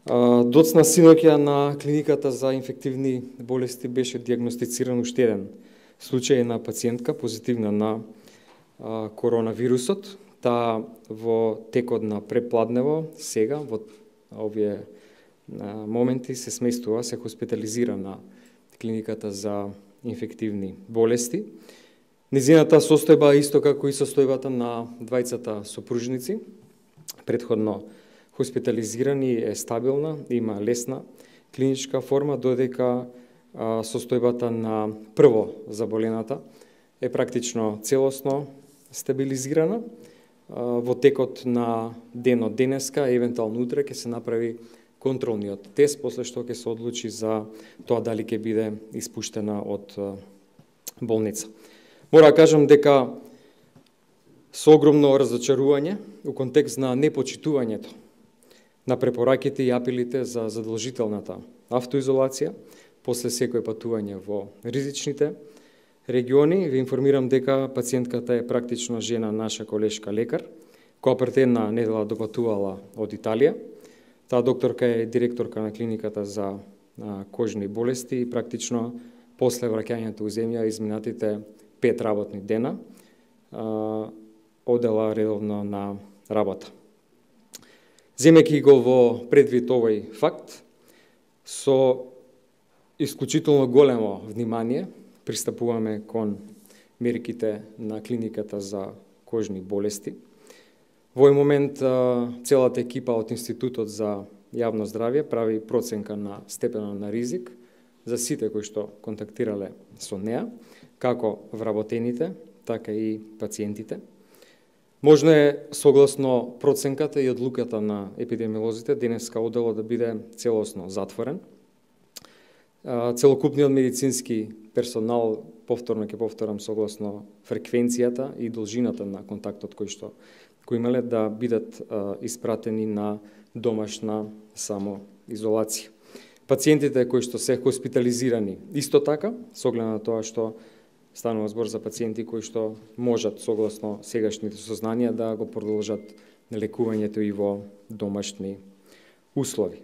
Доцна синоќа на клиниката за инфективни болести беше диагностициран уште еден случај на пациентка позитивна на коронавирусот. Таа во текот на препладнево сега во овие моменти се сместува, се хоспитализира на клиниката за инфективни болести. Незината состојба исто како и состојбата на двајцата сопружници, претходно хоспитализирани, е стабилна, има лесна клиничка форма, додека состојбата на прво заболената е практично целосно стабилизирана. Во текот на денот денеска, евентуално утре, ќе се направи контролниот тест, после што ќе се одлучи за тоа дали ќе биде испуштена од болница. Мора да кажам дека со огромно разочарување у контекст на непочитувањето на препораките и апелите за задолжителната автоизолација после секој патување во ризичните региони, ви информирам дека пациентката е практично жена наша колешка лекар, која пред една недела допатувала од Италија. Таа докторка е директорка на клиниката за кожни болести и практично после враќањето у земја изминатите 5 работни дена одела редовно на работа. Земејќи го во предвид овој факт, со исклучително големо внимание пристапуваме кон мерките на клиниката за кожни болести. Во овој момент целата екипа од Институтот за јавно здравје прави проценка на степенот на ризик за сите кои што контактирале со неа, како вработените, така и пациентите. Можно е, согласно проценката и одлуката на епидемиолозите, денеска оделот да биде целосно затворен. Целокупниот медицински персонал, повторно ќе повторам, согласно фреквенцијата и должината на контактот кој имале, да бидат испратени на домашна самоизолација. Пациентите кои што се хоспитализирани исто така, со оглед на тоа што станува збор за пациенти кои што можат, согласно сегашните сознанија, да го продолжат лекувањето и во домашни услови.